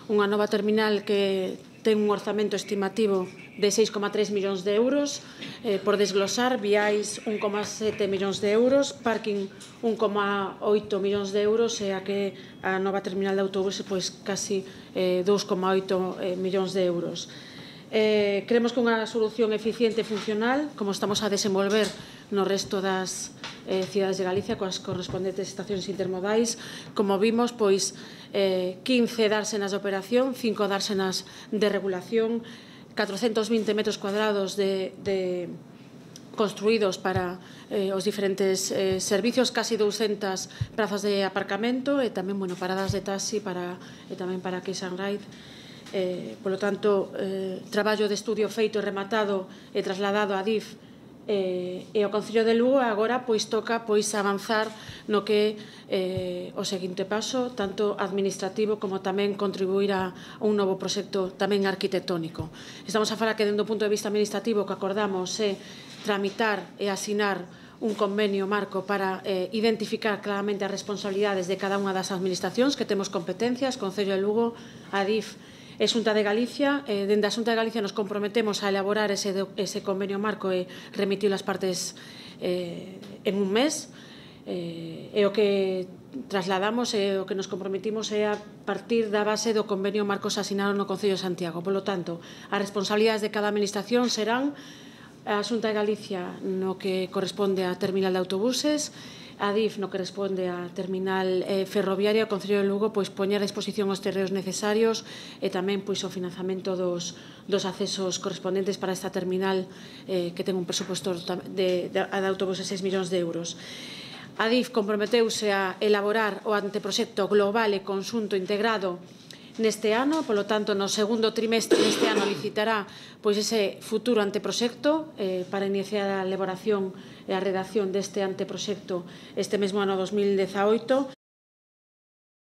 unha nova terminal que ten un orzamento estimativo de 6,3 millóns de euros, por desglosar, viais 1,7 millóns de euros, parking 1,8 millóns de euros e a que a nova terminal de autobuses pois casi 2,8 millóns de euros. Creemos que unha solución eficiente e funcional, como estamos a desenvolver no resto das cidades de Galicia coas correspondentes estacións intermodais, como vimos, pois 15 dársenas de operación, 5 dársenas de regulación, 420 metros cuadrados construídos para os diferentes servicios, casi 200 prazas de aparcamento e tamén paradas de taxi e tamén para Kiss and Ride. Polo tanto, traballo de estudio feito e rematado e trasladado a DIF e ao Concello de Lugo. Agora toca avanzar no que é o seguinte paso, tanto administrativo como tamén contribuir a un novo proxecto tamén arquitectónico. Estamos a falar que, dende o punto de vista administrativo, o que acordamos é tramitar e asinar un convenio marco para identificar claramente as responsabilidades de cada unha das administracións que temos competencias, Concello de Lugo, Adif e Xunta de Galicia. Dende a Xunta de Galicia nos comprometemos a elaborar ese convenio marco e remitir as partes en un mes. E o que trasladamos e o que nos comprometimos é a partir da base do convenio marco asinado no Concello de Santiago. Por lo tanto, as responsabilidades de cada administración serán a Xunta de Galicia no que corresponde á terminal de autobuses, a DIF no que responde á terminal ferroviaria, o Concello de Lugo poñer a disposición os terreos necesarios e tamén o financiamento dos accesos correspondentes para esta terminal que ten un presuposto de autobuses de 6 millóns de euros. A DIF comprometeuse a elaborar o anteproxecto global e conxunto integrado neste ano, polo tanto, no segundo trimestre deste ano licitará ese futuro anteproxecto para iniciar a elaboración e a redacción deste anteproxecto este mesmo ano 2018.